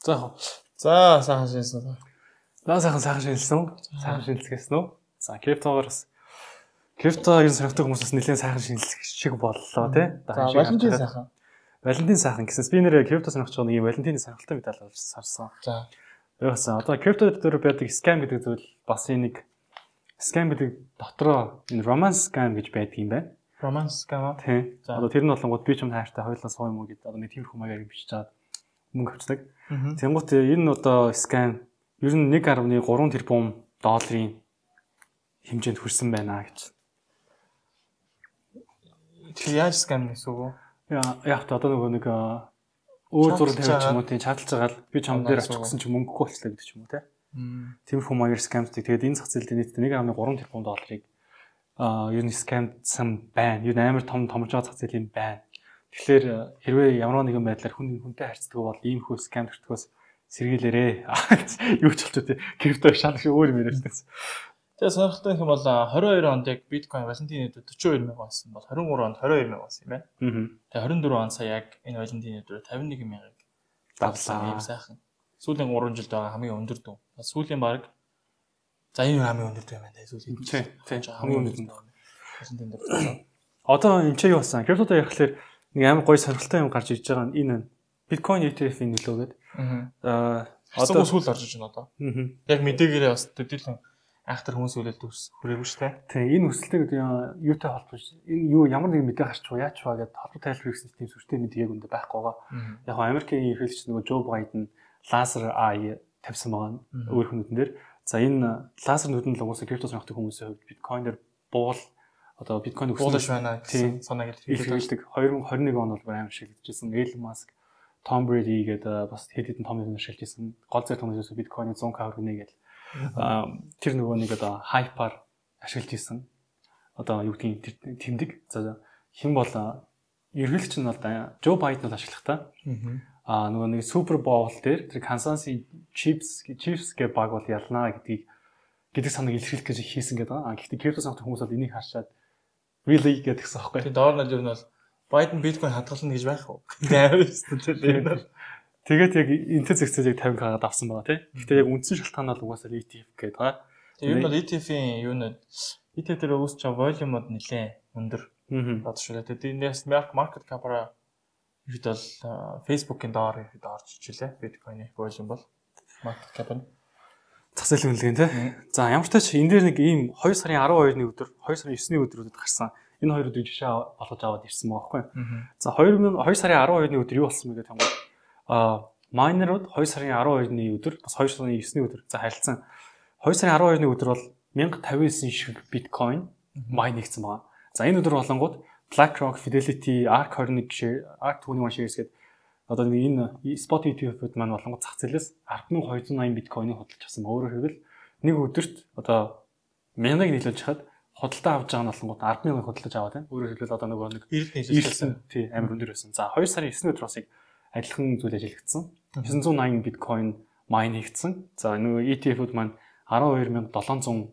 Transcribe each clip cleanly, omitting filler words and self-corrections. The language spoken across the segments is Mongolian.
За сайхан шинжилсэн. Сайхан шинжилсэн үү? За криптогийн сонирхдаг хүмүүсээс нэлээд сайхан шинжилэх шиг боллоо тий. За Валентин сайхан гэсэн би нэр крипто сонирхож байгаа нэг юм Валентины сонирхолтой медаль олж сарсан. За. Яасан одоо крипто дээр байдаг scam гэдэг зүйл бас нэг scam гэдэг дотроо энэ romance scam гэж байдаг юм байна. Romance scam аа. Тий. Одоо тэр нь болонгууд би ч юм хайртай хоёулаа суу юм уу гэдэг одоо нэг тиймэрхүү маягаар бичиж чаад мөнгө авчдаг. Тэнгуут энэ нь одоо scam ер нь 1.3 тэрбум долларын хэмжээнд хүрсэн байна гэж. Тэр яаж scam гэсэн үг вэ? Яг та одоо нэг өөр зураг тавьчих юм уу тийм чадалж байгаа л би чам дээр очих гэсэн чи мөнгөгүй болчихлоо гэдэг ч юм уу те. Тиймэрхүү маягаар scamтэй. Тэгээд энэ зах зээлд нийтдээ 1.3 тэрбум долларыг ер нь scamсан байна. Ер нь амар том томрж байгаа зах зээл юм байна. Тэгэхээр хэрвээ ямар нэгэн байдлаар хүнтэй харьцдаг бол иймэрхүү scam төртгөөс сэргийлээрээ. Юу ч болчих тий. Крипто шал шиг өөр юм яриад байсан. Тэгээ сонирхолтой юм бол 22 онд яг биткойн Валентины өдөр 42 мянга болсон бол 23 онд 22 мянга болсон юм байна. Тэгээ 24 он сая яг энэ Валентины өдөр 51 мянгаыг давлаа. Ийм сайхан. Сүүлийн 3 жилд байгаа хамгийн өндөр дүү. Сүүлийн баг за энэ хамгийн өндөр дүү юм байна. Сүүлийн тий хамгийн өндөр дүү. Валентины өдөр. Одоо энэ ч юу болсон? Криптото ярихлаар нэг амар гоё сонирхолтой юм гарч ирж байгаа нь энэ биткойн ETF-ийн нөлөө гэдэг. Одоо сүүл орж иж байна одоо. Яг мэдээгээрээ бас төдийлөн айхтар хүмүүс үлээлт хүрээгүй шүү дээ. Тийм энэ өсөлттэй гэдэг юутай холбооч энэ юу ямар нэг мэдээ гарч байгаа яач байгаа гэдээ холбоо тайлбар хийсэн тийм сүртэй мэдээ яг үндэ байхгүй байгаа. Яг нь Америкийн ерөнхийлөгч нөгөө Joe Biden лазер eye тавьсан байгаа өөр хүмүүдэн дээр. За энэ лазер нүдэн л угаасаа крипто сонирхдаг хүмүүсийн хувьд биткойнер буул одоо биткойн өсөлт байна гэсэн санааг илэрхийлдэг. 2021 он бол амар шилжижсэн. Elon Musk, Tom Brady гэдэг бас хэд хэдэн том юм шилжижсэн. Гол зэт хүмүүсээс биткойны 100k хүргэнэ гэдэг. Тэр нөгөө нэг одоо хайпаар ашиглаж исэн. Одоо юу гэдгийг тэмдэг. За хэн бол ерөнхийлөгч нь бол Joe Biden бол ашиглах та. Нөгөө нэг Super Bowl дээр тэр Kansas Chiefs гэх баг бол ялнаа гэдэг санааг илэрхийлэх гэж хийсэн гэдэг. Гэхдээ крипто сонирхдаг хүмүүс бол энийг харшаад really гэдгсэн аахгүй. Тэр доор нь ер нь бол Biden биткойн хадгална гэж байх уу? Амар. Тэгээд яг энтэй зэгцээ яг 50k-аад авсан байгаа тий. Гэхдээ яг үндсэн шалтгаан бол угаасаа ETF гэдэг байгаа. Тэр нь бол ETF-ийн юу нэ ETF дээр үүсч байгаа волюмод нэлээ өндөр бодшуулаа. Тэгээд энэс market cap-аа ихэд бол Facebook-ийн доор ихэд орж ичилээ. Bitcoin-ийн волюм бол market cap нь зах зээлийн үнэлгээ тий. За ямар ч тач энэ дээр нэг ийм 2 сарын 12-ны өдөр, 2 сарын 9-ний өдрүүдэд гарсан. Энэ хоёр өдрийг жишээ болгож аваад ирсэн байгаа байхгүй. За 2 сарын 12-ны өдөр юу болсон бэ гэдэг юм бол майнерууд 2 сарын 12-ны өдөр бас 2 сарын 9-ний өдөр за харилцсан 2 сарын 12-ны өдөр бол 1059 шиг биткойн майн хийгдсэн байгаа. За энэ өдөр болонгууд BlackRock, Fidelity, ARK21 shares гэдэг одоо энэ spot ETF-үүд маань болонгууд зах зээлээс 10,280 биткойныг худалдаж авсан. Өөрөөр хэлбэл нэг өдөрт одоо 1000-ыг нийлүүлж хахад худалдаа авч байгаа нь болонгууд 10,000 худалдаж аваад байна. Өөрөөр хэлбэл одоо нөгөө нэг 90 нийлүүлсэн. Тий амар өндөр байсан. За 2 сарын 9-ний өдөр бас адилхан зүйл ажиллагдсан. 980 биткойн майн хийгдсэн. За нөгөө ETF-үүд маань 12700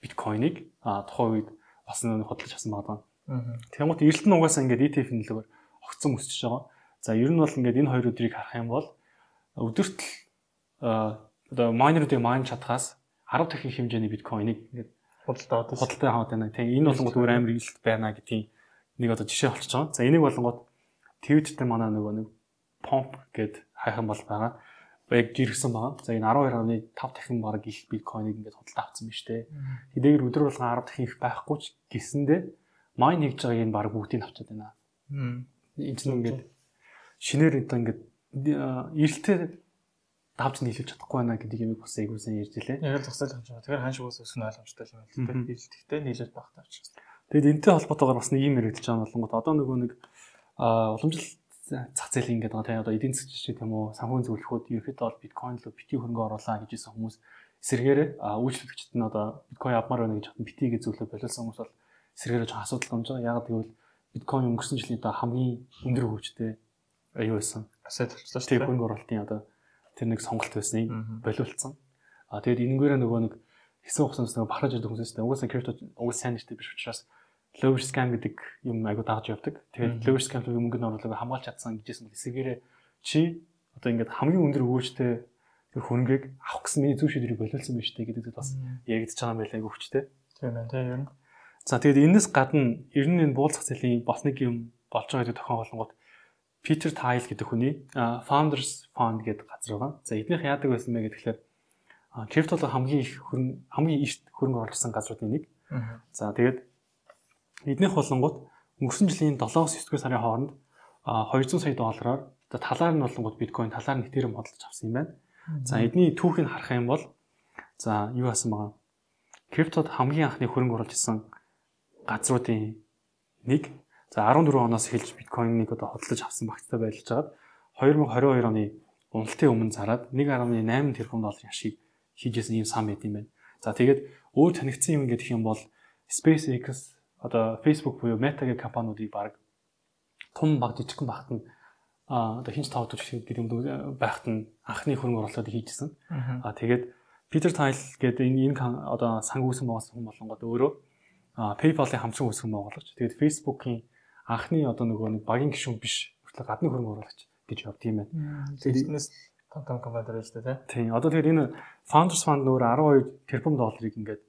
биткойныг тухайн үед бас нэг худалдаж авсан байгаа. Тэгмээд эрэлт нь угаасаа ингээд ETF-ийн нөлөөгөөр огцон өсөж байгаа. За ер нь бол ингээд энэ хоёр өдрийг харах юм бол өдөрт одоо майнеруудыг майн чадхаас 10 дахин хэмжээний биткойныг ингээд худалдаа аваад байна. Тэгээ энэ болонгод өөр амар эрэлт байна гэдгийг нэг одоо жишээ болчихж байгаа. За энийг болонгод Twitter-тэй манай нөгөө нэг Pomp гэд хайхан бол байгаа. Яг жиргсэн байгаа. За энэ 12.5 дахин баг их биткойныг ингээд худалдаа авсан биз дээ. Тэдгээр өдөр болгон 10 дахин их байхгүй ч гэсэндээ майн хийж байгааг энэ баг бүгдийг авчаад байна. Энэ чинь ингээд шинээр одоо ингээд эрэлтээ давж нийлүүлж чадахгүй байна гэдэг юм бас айгуусан ярьж илээ. Яг л зогсоолох юм шиг. Тэгэхээр хаан шиг ус өсгөн ойлгомжтой юм байна. Эрэлттэй нийлүүлж байх тавч. Тэгэд энэтэй холбоотойгоор бас нэг юм яригдж байгаа болонгот одоо нөгөө нэг уламжлал зах зээл ингээд байгаа тийм одоо эдийн засгийн жишээ тийм үү санхүүгийн зөвлөхүүд ерөөхдөө бол биткойн руу бити хөрөнгө оруулаа гэж хэлсэн хүмүүс эсэргээрээ үйлчлэгчид нь одоо биткойн авмаар байна гэж хатан битигээ зөвлөө болиулсан хүмүүс бол эсэргээрээ жоохон асуудал гомж байгаа. Яг гэвэл биткойн өнгөрсөн жилийн одоо хамгийн өндөр хөгжтэй аюу байсан. Асет болчихлоо шүү дээ. Хөрөнгө оруулалтын одоо тэр нэг сонголт байсныг болиулсан. Тэгээд энэгээр нөгөө нэг хэсэг хугацаанд нөгөө бахарж ирдэг хүмүүстэй угаасаа крипто угаасаа сайн нэртэй биш учраас lower scam гэдэг юм айгу дагж явдаг. Тэгээд lower scam-ийн мөнгөний оруулалтыг хамгаалж чадсан гэжсэн бол эсвэргээрээ чи одоо ингээд хамгийн өндөр өгөөжтэй тэр хөрөнгийг авах гэсэн миний зөв шийдвэрийг болиулсан байж тээ гэдэг бас яригдж байгаа юм байлаа өгчтэй. Тийм байна тийм ер нь. За тэгээд энэс гадна ер нь энэ буулзах зэлийн бас нэг юм болж байгаа гэдэг тохион болонгууд Peter Thiel гэдэг хүний Founders Fund гэдэг газар байгаа. За эднийх яадаг байсан бэ гэхээр криптод хамгийн их хөрөнгө оруулж ирсэн газруудын нэг. За тэгээд эднийх болонгууд өнгөрсөн жилийн 7-9 сарын хооронд $200 сая талаар нь болонгууд биткойн, талаар нь этериум хөдөлж авсан юм байна. За эдний түүхийг харах юм бол за юу хасан байгаа? Криптод хамгийн анхны хөрөнгө оруулж ирсэн газруудын нэг. За 14 оноос эхэлж биткойныг одоо хөдөлж авсан багцтай байлж байгаад 2022 оны уналтын өмнө зараад 1.8 тэрбум долларын ашиг хийжсэн ийм сан байт юм байна. За тэгээд өөр танигдсан юм гэх юм бол SpaceX одоо Facebook буюу Meta-гийн компаниудыг баг том баг жижигхэн багт нь одоо хинч тавд гэдэг юм байхад нь анхны хөрөнгө оруулалтыг хийжсэн. Тэгээд Peter Thiel гэдэг энэ одоо санг үүсэн болсон хүн болонгод өөрөө PayPal-ийн хамтран үүсгэн байгуулагч. Тэгээд Facebook-ийн анхны одоо нөгөө нэг багийн гишүүн биш хүртэл гадны хөрөнгө оруулагч гэж явд юм байна. Тэгээд энэс том компани дээр шүү дээ тийм. Одоо тэгээд энэ Founders Fund нөр 12 тэрбум долларыг ингээд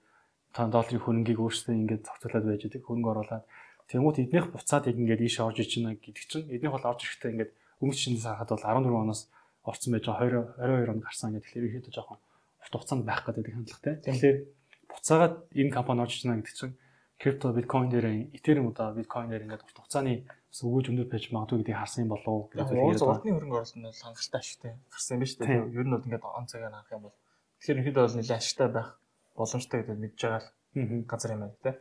$5 хөрөнгийг өөрсдөө ингээд зохицуулаад байж байгаа хөрөнгө оруулаад тэгмүүд эднийх буцаад ингээд ийшээ орж иж байна гэдэг чинь эднийх бол орж ирэхдээ ингээд өмнө шинээс харахад бол 14 оноос орсон байж байгаа 22 онд гарсан гэдэг. Тэгэхээр ихэд жоохон урт хугацаанд байх гэдэг хандлагатай. Тэгэхээр буцаагаад энэ компани орж иж байна гэдэг чинь крипто биткойн дээр этериум удаа биткойн дээр ингээд урт хугацааны өгөөж өндөр байж магадгүй гэдгийг харсан юм болов уу гэдэг хэлээд байна. Урдны хөрөнгө оруулалт нь бол хангалттай ашигтай гарсан юм ба шүү дээ. Ер нь бол ингээд он цагаар харах юм бол тэгэхээр ихэд бол нэлээд ашигтай байх боломжтой гэдгийг мэдж байгаа л газар юм байна тий.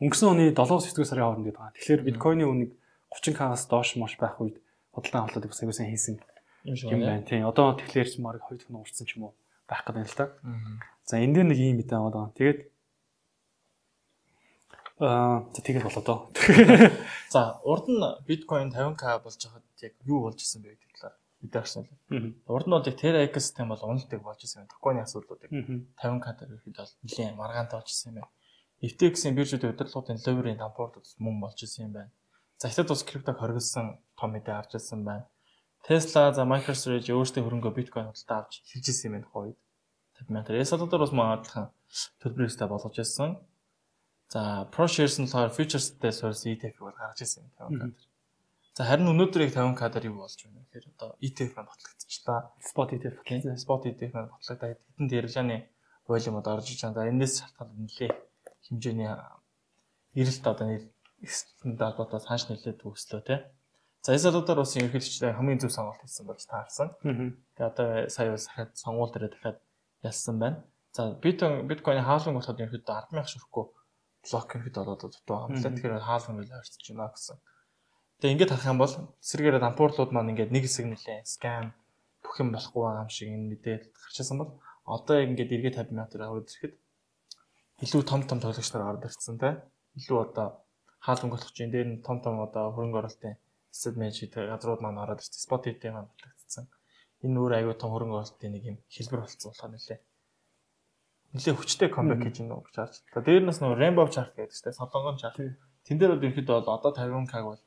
Өнгөрсөн оны 7-9 сарын хооронд гэдэг байгаа. Тэгэхээр биткойны үнэг 30k-аас доош мош байх үед бодлогын авалтыг бас аягүй сайн хийсэн юм байна тий. Одоо тэгэхээр ч марыг 2 дахин урдсан ч юм уу байх гэдэг юм л та. За энэ дээр нэг юм мэдээ байгаа. Тэгээд тэгээд болоо доо. За урд нь биткойн 50k болж байхад яг юу болж исэн бэ гэдэг талаар мэдээ авсан л. Урд нь бол яг Terra экосистем бол уналтыг болж исэн юм. Токойны асуудлуудыг 50k дээр ихэд бол нэлийн маргаантай болж исэн юм байна. FTX-ийн биржүүдийн удирдлагын ловерийн дампуурд мөн болж исэн юм байна. За хятад улс криптог хоригдсан том мэдээ авч ирсэн байна. Tesla за MicroStrategy өөрсдийн хөрөнгөө биткойн худалдаа авч хэлж ирсэн юм байна хойд. 50 SL-оор бас магадлан төлбөрөөстэй болгож ирсэн. За ProShares нь болохоор futures-тэй суурьсан ETF-ийг бол гаргаж ирсэн юм 50k дээр. За харин өнөөдөр яг 50k дээр юу болж байна вэ гэхээр одоо ETF маань батлагдчихлаа. Spot ETF тийм Spot ETF маань батлагдаад хэдэн дэржааны волюмод орж иж байгаа. За энэс шалтгаалаад нэлээ хэмжээний эрэлт одоо нэстэнд албатай цааш нэлээд төгслөө тий. За SL-оор бас ерөнхийдөө хамгийн зөв сонголт хийсэн болж таарсан. Тэгээ одоо сая бас дахиад сонгуул дээр дахиад ялсан байна. За биткойны хаалган болоход ерөнхийдөө 10,000 ширхгөө блок ерөнхийдөө одоо дутуу хамтлаа. Тэгэхээр хаалган мэл ойртож байна гэсэн. Тэгээ ингээд харах юм бол эсрэгээр дампуурлууд маань ингээд нэг хэсэг нэлээ скам бүх юм болохгүй байгаа юм шиг энэ мэдээлэл гарчсан бол одоо ингээд эргээд 50,000 төгрөг аваад ирэхэд илүү том тоглогч нар орж ирсэн те. Илүү одоо хаалган болох чинь дээр нь том одоо хөрөнгө оруулалтын asset management газрууд маань ороод ирсэн. Spot ETF маань батлагдсан. Энэ өөр аюу том хөрөнгө оруулалтын нэг юм хэлбэр болсон болохоор нэлээ хүчтэй comeback хийж байна гэж харж. За дээрнээс нөгөө Rainbow chart гэдэг чинь солонгон chart. Тэн дээр бол ерөөхдөө бол одоо 50k бол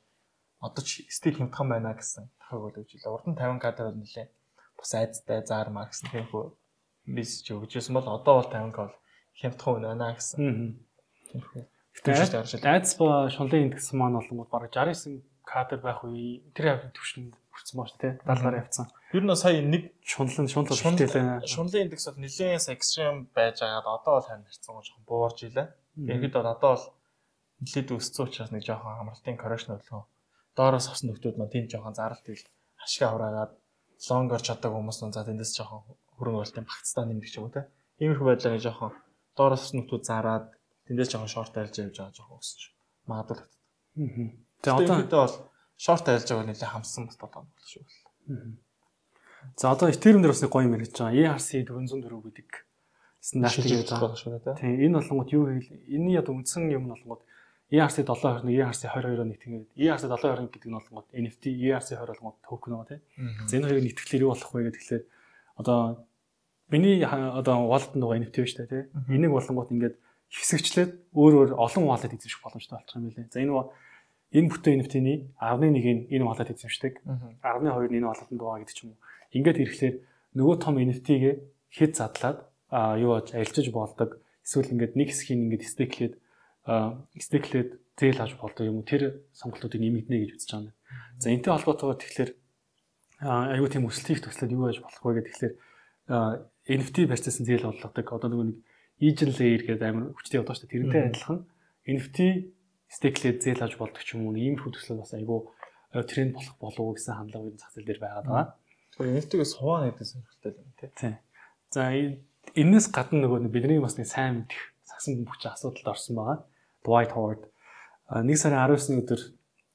одоо ч стил хямдхан байна гэсэн тохиог бол өгч илээ. Урд нь 50k дээр бол нэлээ бас айцтай заармаа гэсэн тиймхүү мессеж өгчээсэн бол одоо бол 50k бол хямдхан байна гэсэн. Гэхдээ айц ба шунлын индекс маань болонгууд бараг 69k дээр байх үе тэр явдлын түвшинд хүрсэн байна шүү дээ. 70 гаруй явцсан. Ер нь сая нэг шунлын шунлын индекс бол нэлээд экстрем байж байгаад одоо бол харин харьцан жоохон буурж илээ. Тэгэхэд бол одоо бол нэлээд өссөн учраас нэг жоохон амралтын коррекшн болов. Доороос авсан нөхдүүд маань тийм жоохон заралт ил ашгаа хураагаад лонгор чаддаг хүмүүс нь за тэндээс жоохон хөрөнгө оруулалтын багцтай нэмдэг ч юм уу те. Иймэрхүү байдлаар нэг жоохон доороос авсан нөхдүүд зараад тэндээс жоохон шорт айлж явж байгаа жоохон өсөж магадгүй. Тэгээ одоо бол шорт айлж байгаа нэлээд хамсан бас толгой болох шүү. За одоо Ethereum дээр бас нэг гоё юм ярьж байгаа. ERC-404 гэдэг стандарт гэж байгаа шүү дээ. Тийм энэ болонгууд юу вэ? Энийний одоо үндсэн юм нь болонгууд ERC-720, ERC-22 нэг тэгээд ERC-720 гэдэг нь болонгууд NFT, ERC-20 болонгууд токен байгаа тийм. За энэ хоёрыг нийтгэлээр юу болох вэ гэдэг тэгэхээр одоо миний одоо wallet нөгөө NFT биш үү тийм. Энийг болонгууд ингээд хэсэгчлээд өөр олон wallet эзэмших боломжтой болчих юм билээ. За энэ энэ бүтээн NFT-ний 11-ийг энэ wallet эзэмшдэг. 12-ны энэ wallet-д байгаа гэдэг ч юм уу. Ингээд ирэхлээр нөгөө том NFT-гээ хэд задлаад юу аж арилжиж болдог. Эсвэл ингээд нэг хэсгийг ингээд стейклээд зээл авч болдог юм уу? Тэр сонголтуудыг нэмэгдэнэ гэж үзэж байгаа юм. За энэтэй холбоотойгоор тэгэхээр аюу тийм өсөлтийг төслөд юу яаж болох вэ гэдэг тэгэхээр NFT versus зээл болгодог. Одоо нөгөө нэг Agent layer гэдэг амар хүчтэй одоо шүү дээ. Тэрнтэй адилхан NFT стейклээд зээл авч болдог ч юм уу. Иймэрхүү төслүүд бас аюу тренд болох болов уу гэсэн хандлага энэ зах зээл дээр байгаад байгаа. NFT-гээс хуваана гэдэг сонирхолтой юм тийм. За энэс гадна нөгөө бидний бас нэг сайн мэдэх сагсан бөмбөгч асуудалд орсон байгаа. Dwight Howard 1 сарын 19-ны өдөр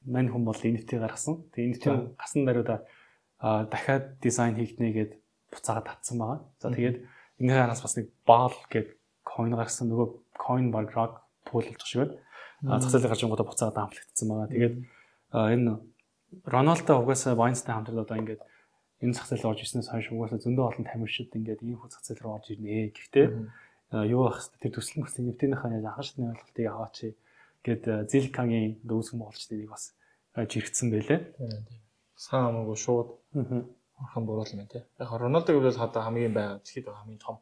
мань хүн бол NFT гаргасан. Тэгээ NFT гасан даруйда дахиад дизайн хийгднэ гэд буцаагаад татсан байгаа. За тэгээд энэ хараас бас нэг ball гэд coin гаргасан. Нөгөө coin баг rug pool болж байгаа шүү. Зах зээлийн гарч ингуудаа буцаагаад амплагдсан байгаа. Тэгээд энэ Рональдо угаасаа Binance-тай хамтраад одоо ингээд энэ зах зээл орж ирснээс хойш угаасаа зөндөө олон тамирчид ингээд ийм хүү зах зээл рүү орж ирнэ. Гэхдээ юу байх вэ? Тэр төсөл мөслийн NFT-ийнхаа яаж анхан шатны ойлголтыг аваач гэд Zilliqa-гийн дүүсгэн боолчдыг бас жиргцсэн байлээ. Сайн амаагүй шууд орхон буруул юм тий. Яг Рональдог бол одоо хамгийн байгаа дэлхийд хамгийн том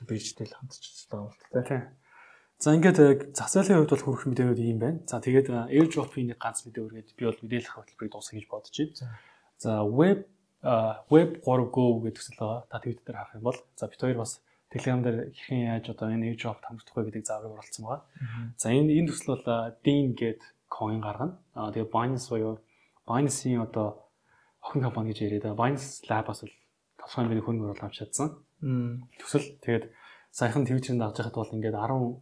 биржтэй л хамтарч байгаа юм л тий. За ингээд зах зээлийн хувьд бол хүрэх мэдээнүүд ийм байна. За тэгээд airdrop-ийн нэг ганц мэдээ өргөд би бол мэдээлэх хөтөлбөрийг дуусгах гэж бодож байна. За web 3go гэдэг төсөл байгаа. Та Twitter дээр харах юм бол за бид хоёр бас Telegram дээр хэрхэн яаж одоо энэ airdrop хамтдах вэ гэдэг зааврыг оруулсан байгаа. За энэ төсөл бол Dean гэдэг coin гаргана. Тэгээд Binance буюу Binance-ийн одоо охин компани гэж яриад байгаа. Binance Lab-аас бол тосгон бидний хөрөнгө оруулалт авч чадсан. Төсөл тэгээд саяхан Twitter-д авч байхад бол ингээд 10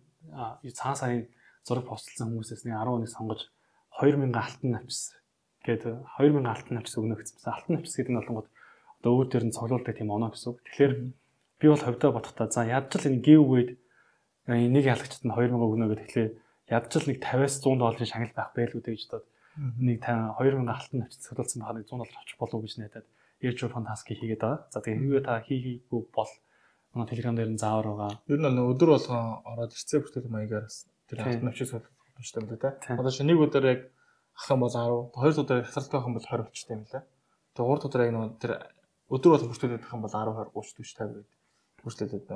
цагаан сарын зураг постлсан хүмүүсээс нэг 10 хүнийг сонгож 2000 алтан навчс гэдэг 2000 алтан навчс өгнө гэсэн. Алтан навчс гэдэг нь болонгод одоо өөр төр нь цоглуулдаг тийм оноо гэсэн үг. Тэгэхээр би бол ховдоо бодохдоо за ядчил энэ giveaway-д нэг ялагчд нь 2000 өгнө гэдэг. Тэгэхээр ядчил нэг 50-аас 100 долларын шагнал байх байлгүй гэж бодоод нэг 2000 алтан навчс цоглуулсан байхад 100 доллар авчих болов уу гэж найдаад airdrop task хийгээд байгаа. За тэгээ хэрвээ та хийгээгүй бол манай Telegram дээр нь заавар байгаа. Ер нь өдөр болгон ороод ирцээ бүртгэл маягаар тэр алтан навчс болох юмштай юм да. Одоо шинэ нэг өдөр яг ах юм бол 10, хоёр өдөр хасралт байх юм бол 20 болчтой юм лээ. Тэгээ гурав өдөр яг нэг тэр өдөр болгон бүртгэлээд байх юм бол 10, 20, 30, 40, 50 гэдэг. Бүртгэлээд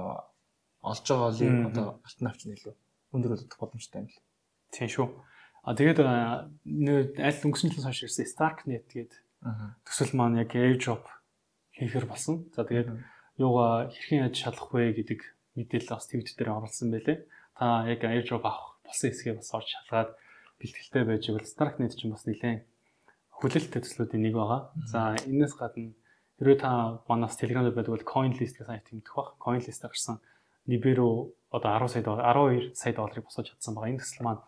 олж байгаа олын одоо алтан навч нь илүү өндөр болдог боломжтой юм л. Тийм шүү. Тэгээд аль өнгөрсөн жилээс хойш ирсэн Starknet гэдэг төсөл маань яг airdrop хийхэр болсон. За тэгээд юугаа хэрхэн яаж шалгах вэ гэдэг мэдээлэл бас Twitter дээр оруулсан байлээ. Та яг airdrop авах болсон хэсгээ бас орж шалгаад бэлтгэлтэй байж игэл Starknet ч бас нэлээд хүлээлттэй төслүүдийн нэг байгаа. За энэс гадна хэрвээ та манаас Telegram дээр байдаг бол CoinList гэх сайт тэмдэх баг. CoinList-ээр гарсан Libero одоо 12 сая долларыг босгож чадсан байгаа. Энэ төсөл маань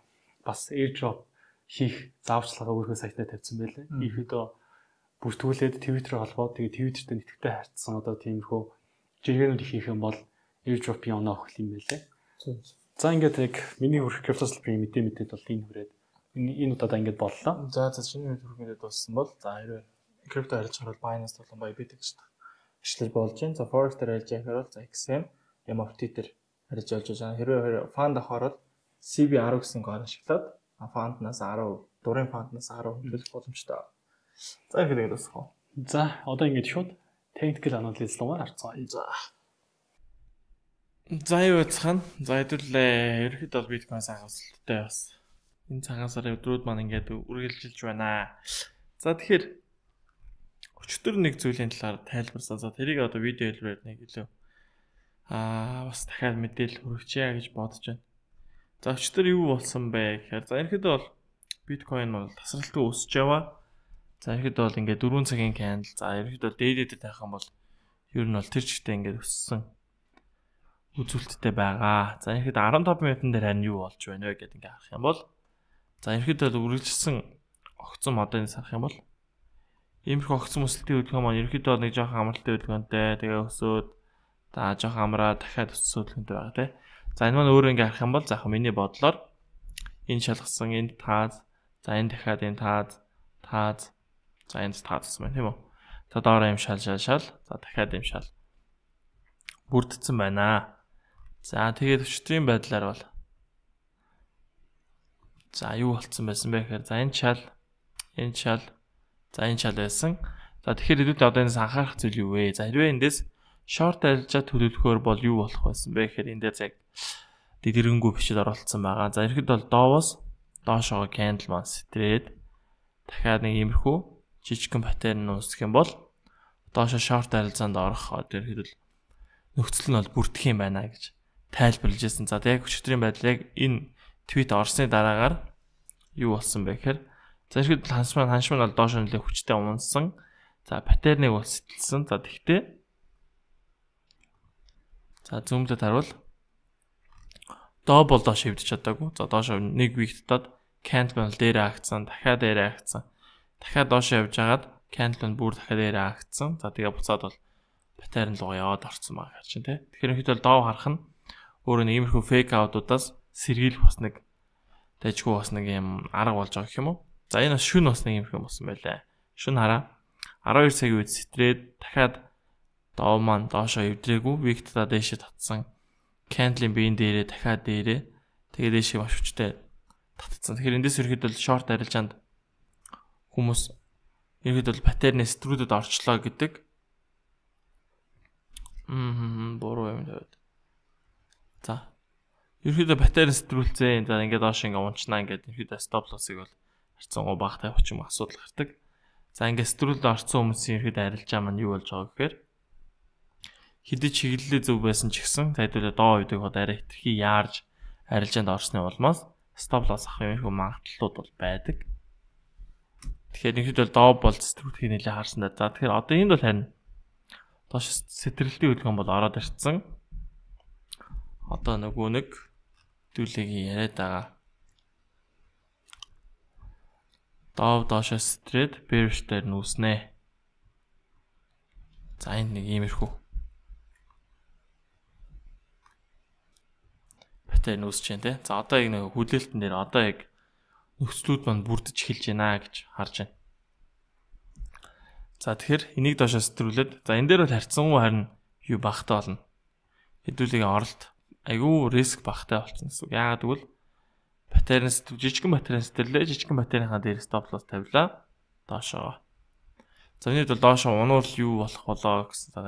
бас airdrop хийх зааварчилгаа өөрийнхөө сайтнаа тавьсан байлээ. Ийхүүдөө бүртгүүлээд Twitter холбоод тэгээд Twitter-тэй нэтгэвтэй харьцсан одоо тиймэрхүү жиргэнүүд хийх юм бол airdrop-ийн оноо өгөх юм байлээ. За ингээд яг миний хүрэх криптослбрийн мэдээд бол энэ хүрээд энэ удаа ингээд боллоо. За чиний хүрэх мэдээд болсон бол за хэрвээ крипто харьж хараад Binance болон Bybit гэж ажиллаж болж байна. За Forex дээр харьж байхаар бол за XM, MFT дээр харьж болж байгаа. Хэрвээ фанд авахаар бол CB10 гэсэн гол ашиглаад фанднаас 10, дурын фанднаас 10 хөлөх боломжтой. За ингээд дуусах. За одоо ингээд шууд technical analysis руугаар харцгаа. За юу яцхан. За хэдүүлээ. Ерөнхийдөө бол биткойн сайн өсөлттэй бас. Энэ цагаан сарын өдрүүд маань ингээд үргэлжилж байна. За тэгэхээр өчтөр нэг зүйлийн талаар тайлбарсан. За тэрийг одоо видео хэлбэрээр нэг илүү бас дахиад мэдээлэл хүргэчихье гэж бодож байна. За өчтөр юу болсон бэ гэхээр за ерөнхийдөө бол биткойн бол тасралтгүй өсөж яваа. За ерөнхийдөө бол ингээд 4 цагийн candle. За ерөнхийдөө дээд тавих юм бол ер нь бол тэр чигтээ ингээд өссөн үзүүлэлттэй байгаа. За ерөнхийдөө 15 минутын дээр харин юу болж байна вэ гэдэг ингээд харах юм бол за ерөнхийдөө үргэлжилсэн огцон модыг харах юм бол иймэрхүү огцон өсөлтийн хөдөлгөөн маань ерөнхийдөө нэг жоохон амралтын хөдөлгөөнтэй тэгээ өсөөд за жоохон амраа дахиад өссөн хөдөлгөөнтэй байгаа тий. За энэ маань өөрөө ингээд харах юм бол за миний бодлоор энэ шалгасан энэ таад за энэ дахиад энэ таад за энэ таадсан байна тийм үү. За доороо юм шал за дахиад юм шал бүрдсэн байна. За тэгээд өчтөрийн байдлаар бол За юу болцсон байсан бэ гэхээр за энэ шал байсан. За тэгэхээр хэдүүлээ одоо энэс анхаарах зүйл юу вэ? За хэрвээ эндээс short арилжаа төлөвлөхөөр бол юу болох байсан бэ гэхээр энэ дээр яг дэдгэрэнгүй бичиж оролцсон байгаа. За ихэд бол доовоос доошоо candle маань стрээд дахиад нэг иймэрхүү жижигхэн паттерн үүсгэх юм бол доошоо short арилжаанд орох одоо ихэд бол нөхцөл нь бол бүрдэх юм байна гэж тайлбарлаж байсан. За яг өчигдрийн байдал яг энэ твит орсны дараагаар юу болсон бэ гэхээр за ихэд ханшман бол доошоо нэлээд хүчтэй унсан. За паттерныг бол сэтэлсэн. За тэгтээ за зүүмлэд харуул доо бол доош хөвдөж чадаагүй. За доош нэг виктдод candle дээр агцсан, дахиад дээр агцсан. Дахиад доош явж хагаад candle бүр дахиад дээр агцсан. За тэгээ буцаад бол паттерн руу яваад орсон байгаа гэж чинь тий. Тэгэхээр ихэд бол доо харах нь өөрөө нэг иймэрхүү fake out-уудаас сэргийлэх бас нэг дайжгүй бас нэг юм арга болж байгаа гэх юм уу. За энэ бас шүн бас нэг иймэрхүү болсон байлаа. Шүн хараа 12 цагийн үед стрээд дахиад доо маань доошоо эвдрээгүй виктдаа дээшээ татсан. Candle-ийн биеийн дээрээ дахиад дээрээ тэгээ дээшээ маш хүчтэй татцсан. Тэгэхээр эндээс ирэхэд бол short арилжаанд хүмүүс ирэхэд бол паттерны стрүүдэд орчлоо гэдэг. Буруу юм даа. За. Ирэхэд паттерн стрүүлцээ. За ингээд доош ингээд унчнаа ингээд ирэхэд stop loss-ыг бол харцсан гоо багтай очих юм асуудал гардаг. За ингээд стрүүлд орсон хүмүүсийн ирэхэд арилжаа маань юу болж байгаа гэхээр хэдий чиглэлээ зөв байсан ч гэсэн тайлбарлаа доо үйдэг хот арай хэтэрхий яарж арилжаанд орсны улмаас stop loss авах юм магадлалууд бол байдаг. Тэгэхээр ихэд бол доо бол стрүүлтийг нэлээд харсан да. За тэгэхээр одоо энд бол харин доош сэтрэлтийн хөдөлгөөн бол ороод ирсэн. Одоо нөгөө нэг зүйлийг яриад байгаа. Доо доошоо стрээд bearish дээр нүүснэ. За энд нэг иймэрхүү паттерн үүсэж байна те. За одоо яг нэг хүлээлтэн дээр одоо яг нөхцлүүд маань бүрдэж эхэлж байна гэж харж байна. За тэгэхээр энийг доошоо стрүүлээд за энэ дээр бол харьцангуй харин юу багтаа болно. Хэдүүлгийн оролт айгүй риск багтаа болчихсон гэсэн үг. Яагаад гэвэл паттерн жижигхэн паттерн сэтэрлээ жижигхэн паттернийхаа дээр stop loss тавилаа доошоо. За энэ бол доошоо унуул юу болох болоо гэсэн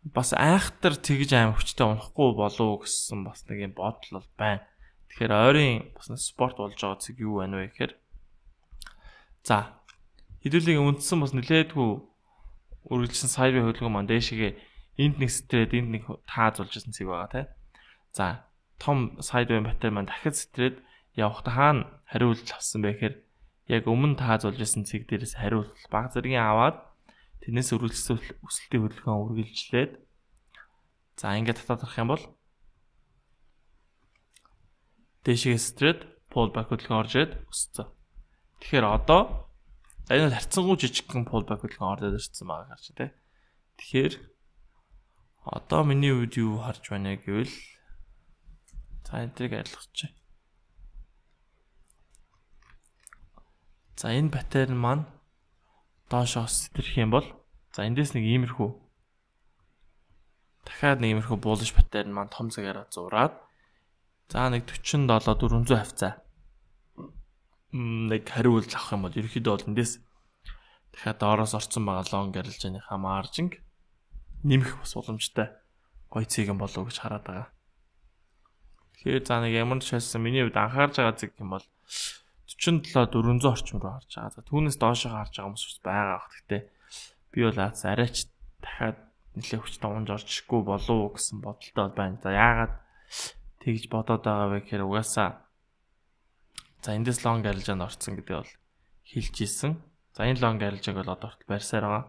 бас айхтар тэгж аим хүчтэй унахгүй болов гэсэн бас нэг юм бодол бол байна. Тэгэхээр ойрын бас спорт болж байгаа зүг юу байна вэ гэхээр за хэдүүлгийн үндсэн бас нэлээдгүй үргэлжлэн сайвын хөдөлгөөн маань дээшгээ энд нэг стрээд энд нэг тааз болж ирсэн цэг байгаа тийм. За том сайдвей паттерн маань дахиад стрээд явахдаа хаана хариулт авсан бэ гэхээр яг өмнө тааз болж ирсэн цэг дээрээс хариулт баг зэргийн аваад тэрнээс үргэлжлүүлсэн өсөлтийн хөдөлгөөн үргэлжлээд за ингээд татаад авах юм бол дээшгээ стрээд pull back хөдөлгөөн орж ирээд өссөн. Тэгэхээр одоо энэ бол харьцангуй жижигхэн pull back хөдөлгөөн ороод ирсэн байгаа гарч тий. Тэгэхээр одоо миний үед юу харж байна гэвэл за энэтрийг арилгачих. За энэ паттерн маань доошоо стрэх юм бол за эндээс нэг иймэрхүү дахиад нэг иймэрхүү bullish паттерн маань том цагаараа зураад за нэг 47 400 хавцаа нэг хариулт авах юм бол ерөөхдөө бол эндээс дахиад доороос орсон байгаа long арилжааныхаа маржинг нэмэх бас боломжтой гоё цэгэн болов гэж хараад байгаа. Тэгэхээр за нэг ямар ч хэлсэн миний хувьд анхаарж байгаа зэг юм бол 47 400 орчмоор харж байгаа. За түүнээс доошоо харж байгаа хүмүүс байгаа бах. Гэхдээ би бол арайч дахиад нэлээд хүчтэй унж орчихгүй болов гэсэн бодолтой байна. За яагаад тэгж бодоод байгаа вэ гэхээр угаасаа за эндээс long арилжаанд орсон гэдэг бол хэлж ийсэн. За энэ long арилжааг бол одоо барьсаар байгаа.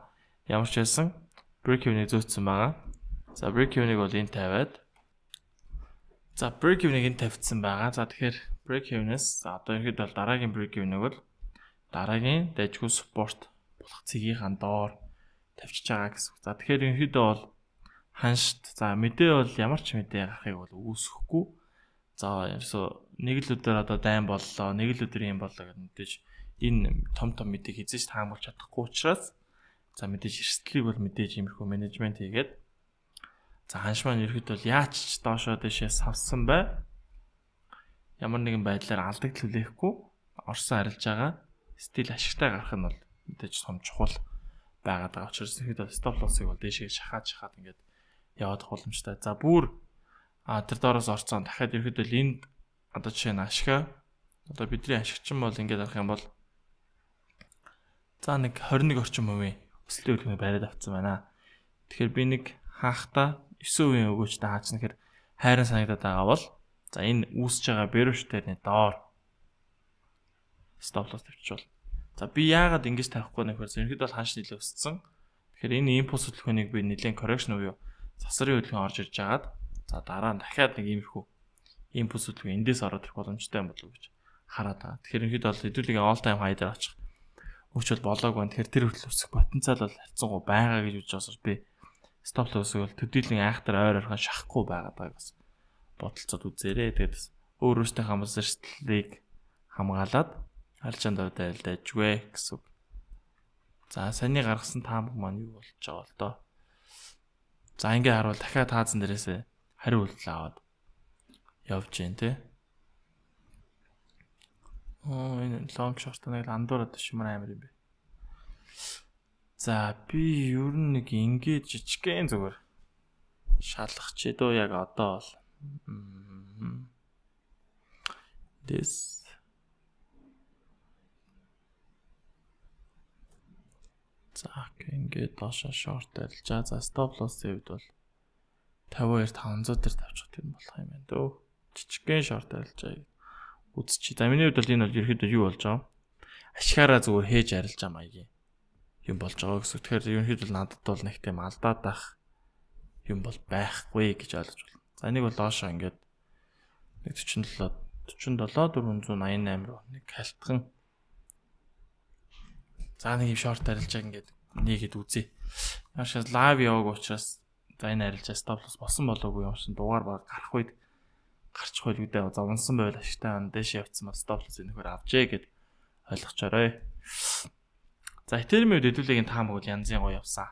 Ямар ч хэлсэн break even-ийг зөөцсөн байгаа. За break even-ийг бол энэ тавиад за break even-ийг энэ тавьсан байгаа. За тэгэхээр break even-ээс одоо ихэд бол дараагийн break even-ийг бол дараагийн дайжгүй support болох цэгийнхаа доор тавьчихж байгаа гэсэн. За тэгэхээр ихэд бол ханшт за мэдээ бол ямар ч мэдээ гарахыг бол үүсэхгүй. За ерөөсөө нэг л өдөр одоо дайм боллоо, нэг л өдөр юм боллоо гэдэг мэдээж энэ том мэдээг хизээж таамаглаж чадахгүй учраас за мэдээж эрсдлийг бол мэдээж иймэрхүү менежмент хийгээд за ханш маань ерөөд бол яач доошоо дэшээс авсан бай. ямар нэгэн байдлаар алдагдал хүлээхгүй орсон арилж байгаа стил ашигтай гарах нь бол мэдээж том чухал байгаад байгаа учраас ихэд стоп лоссыг бол дээшээ шахаад ингээд яваад боломжтой. За бүр тэр доороос орцсон дахиад ерөөдөө энд одоо жишээ нь ашигаа одоо бидний ашигчин бол ингээд авах юм бол за нэг 21 орчим хувийн өсөлтийн үлгэрийг бариад авсан байна. Тэгэхээр би нэг хаахта 9% өгөөчтэй хаачна гэхээр хайран санагдаад байгаа бол за энэ үүсэж байгаа бэрвштерний доор стоп лосс тавьчихвал. За би яагаад ингэж тавихгүй нөхөр ерөнхийдөө бол ханш нэлээ өссөн. Тэгэхээр энэ импульс хөдөлгөөнийг би нэлээд correction уу сасрын хөдөлгөөн орж ирж агаад за дараа нь дахиад нэг иймэрхүү импульс хөдөлгөөн эндээс ороод ирэх боломжтой юм болов уу гэж хараад байгаа. Тэгэхээр ерөнхийдөө бол хэдүүлэг all time high дээр очих өгчвөл болоог байна. Тэгэхээр тэр хөдөл өсөх потенциал бол харьцангуй байгаа гэж үзэж байгаа учраас би стоп лоссыг бол төдийлөн айхтар ойр ойрхон шахахгүй байгаад байгааг бас бодолцоод үзээрэй. Тэгээд өөр өөртөө хамаас эрсдлийг хамгаалаад алчаанд айлдажгүй гэсэн үг. За саний гаргасан таамаг маань юу болж байгаа л доо. За ингээ харуул дахиад таазан дээрээсээ хариу үйлдэл аваад явж гин тэ. Энэ long short нэг андуураад шимэр амир юм бэ. За би ер нь нэг ингээд жижигхэн зүгээр шалгах ч дөө яг одоо бол this за ингээд доошо short арилжаа. За stop loss-ийн үед бол 52 500 дээр тавьчих юм болох юм байна дөө. Жижигхэн short арилжаа үзчих. За миний хувьд бол энэ бол ерөөхдөө юу болж байгаа? Ашигаараа зүгээр хээж арилж байгаа маягийн юм болж байгаа гэсэн. Тэгэхээр ерөнхийдөө надад бол нэг тийм алдаад байх юм бол байхгүй гэж ойлгож байна. За энийг бол доошоо ингээд 47 488 руу нэг халтхан. За нэг юм шорт арилжаа ингээд нэгэд үзье. Яашаа лайв яваг учраас за энэ арилжаа стоп лосс болсон болоогүй юм шиг дугаар баг гарах үед гарчих байл үдээ зовнсон байл ашигтай ан дэше явцсан ба стоп лосс нөхөр авчээ гэд ойлгочоорой. За Ethereum-ийн хэдүүлгийн таамаг бол янзын гоё явсан.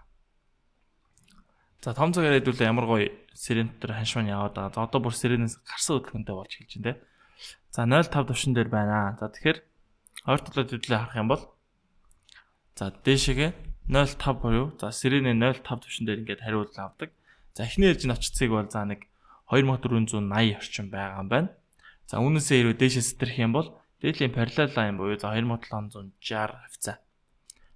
За том цагаар хэдүүлээ ямар гоё сэрэн дотор ханшман яваад байгаа. За одоо бүр сэрэнээс гарсан хөдөлгөөнтэй болж эхэлж байна те. За 0.5 төвшин дээр байна. За тэгэхээр ойр талууд хэдүүлээ харах юм бол за дээшээгээ 0.5 буюу за сэрэнээ 0.5 төвшин дээр ингээд хариулт авдаг. За эхний ээлжийн очицыг бол за нэг 2480 орчим байгаа юм байна. За үүнээсээ хэрвээ дээшээ сэтэрх юм бол дээдлийн parallel line буюу за 2760 хавцаа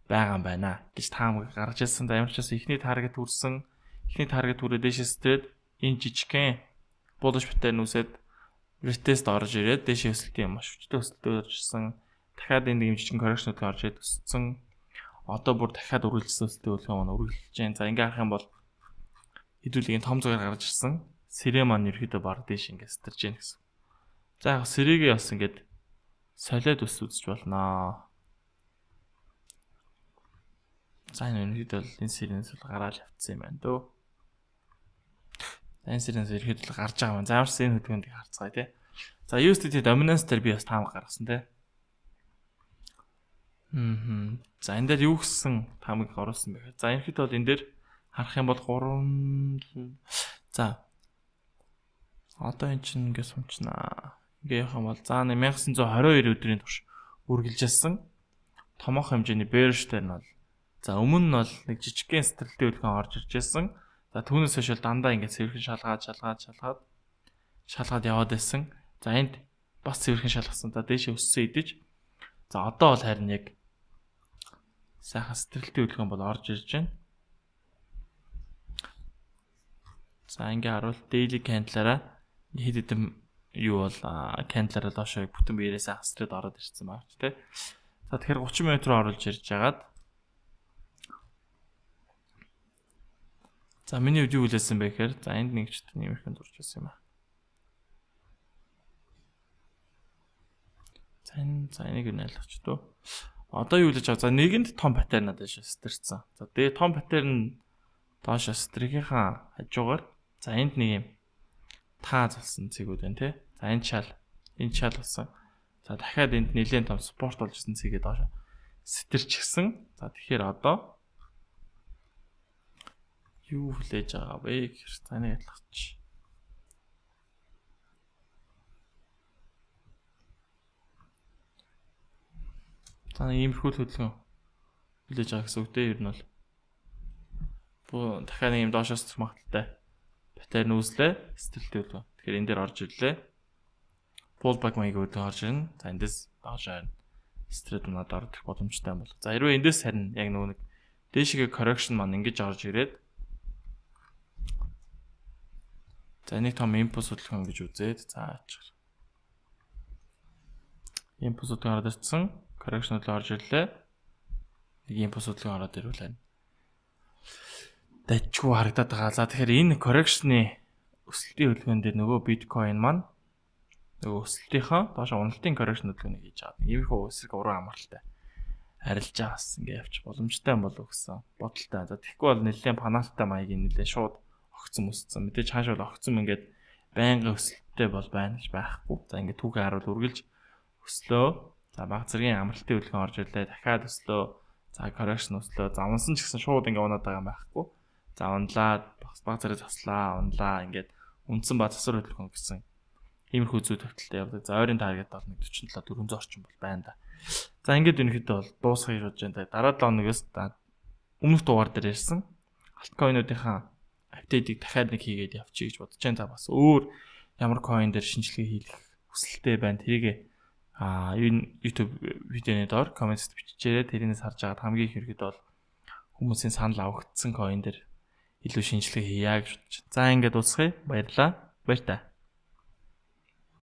байгаа юм байна гэж таамаг гаргаж ирсэн. За ямар ч байсан эхний таргет хүрсэн. Эхний таргет хүрээ дээшээ сэтрэд энэ жижигхэн bullish pattern үсээд retest орж ирээд дээшээ өсөлтийн маш хүчтэй өсөлтөөр ирсэн. Дахиад энэ нэг жижигхэн correction-ууд орж ирээд өссөн. Одоо бүр дахиад үргэлжлсэн өсөлтийн үлгэн маань үргэлжлэж байна. За ингээ харах юм бол хэдүүлгийн том цагаар гарч ирсэн. Сэрэ маань ерөөдөө баг дээш ингээ сэтэрж гин гэсэн. За яг сэрэгээ бас ингээд солиод үзэж болноо. За энэ ерөөдөө энэ сэрэнээс бол гараал явцсан юм байна дөө. Энэ сэрэнээс ерөөдөө гарч байгаа юм. За ямарс энэ хөдөлгөөнийг харцгаая тий. За USDT dominance дээр би бас таамаг гаргасан тий. За энэ дээр юу гэсэн таамаг оруулсан бэ? За ерөөдөө бол энэ дээр харах юм бол 3 за одоо эн чинь ингээд сумчнаа. Ингээ явах юм бол за 1922 өдрийн турш үргэлжилсэн томоохон хэмжээний bearish дээр нь бол за өмнө нь бол нэг жижигхэн стрэлтийн хөдөлгөөн орж ирж байсан. За түүнээс хойш дандаа ингээд цэвэрхэн шалгаад яваад байсан. За энд бас цэвэрхэн шалгасан. За дээшээ өссөн идэж. За одоо бол харин яг сайхан стрэлтийн хөдөлгөөн бол орж ирж байна. За ингээ харуул daily candle-аараа хэд хэдэм юу бол candle-аараа доошоо бүтэн биерээс астрад ороод ирсэн байна ч тий. За тэгэхээр 30 минут руу оруулж ирж хагаад за миний үед юу хэлсэн бэ гэхээр за энд нэг ч нэмэрхэн зурж байсан юм аа. За энийг нь ойлгоч дөө. Одоо юу хэлж байгаа? За нэгэнд том паттерн надад сэтэрсэн. За тэгээ том паттерн доош стригийнхаа хажуугаар за энд нэг юм тааз болсон цэгүүд байна тий. За энэ шал болсон. За дахиад энд нэлээд том спорт болж ирсэн цэгээ доош сэтэрчихсэн. За тэгэхээр одоо юу хүлээж байгаа вэ гэхээр за энийг ялгач. За иймэрхүү хөдөлгөөн хүлээж байгаа гэсэн үг дээ ер нь бол. Дахиад нэг юм доошоос магталтай. Батарей нүүслээ, стилтэй хөдөлгөөн. Тэгэхээр энэ дээр орж ирлээ. Pullback маяг хөдөлгөөн орж ирнэ. За эндээс доошоо харин стрит унаад орох боломжтой юм бол. За хэрвээ эндээс харин яг нөгөө нэг дээшгээ correction маань ингэж орж ирээд за нэг том импульс хөдөлгөөн гэж үзээд за аачих. Импульс хөдөлгөөн ороод ирсэн. Correction хөдөлгөөн орж ирлээ. Нэг импульс хөдөлгөөн ороод ирвэл байна. Дайчгүй харагдаад байгаа. За тэгэхээр энэ correction-ы өсөлтийн хөдөлгөөн дээр нөгөө биткойн маань нөгөө өсөлтийнхаа доошо уналтын correction хөдөлгөөнийг хийж байгаа. Иймэрхүү эсрэг уран амралтай арилж байгаа бас ингэ явчих боломжтой юм болов гэсэн бодолтой. За тэгэхгүй бол нэлээд паналттай маягийн нэлээд шууд огцсон өссөн. Мэдээж хааш бол огцсон ингээд байнгын өсөлттэй бол байна гэж байхгүй. За ингээд түүхээ харуул үргэлж өслөө. За баг зэргийн амралтын хөдөлгөөн орж ирлээ. Дахиад өслөө. За correction өслөө. За унсан ч гэсэн шууд ингээд унаад байгаа юм байхгүй. За унлаад баг зэрэг тослаа, унлаа ингээд үндсэн ба засвар хөдөлгөөн гэсэн иймэрхүү зүй төвтөлтэй явдаг. За ойрын таргет бол 147 400 орчим бол байна да. За ингээд өнөхөдөө бол дуусгах гэж бодож байна. Дараа 7 хоногоос өмнөх дугаар дээр ярьсан альткойнуудынхаа апдейтыг дахиад нэг хийгээд явчих гэж бодож байна. Та бас өөр ямар coin дээр шинжилгээ хийх хүсэлтэй байна. Тэрийг YouTube видеоны доор комментт бичээрэй. Тэрнээс харж агаад хамгийн их хэрэгэд бол хүмүүсийн санал авагдсан coin дээр илүү шинжилгээ хийя гэж бодож байна. За ингээд дуусгая. Баярлалаа. Баяр та.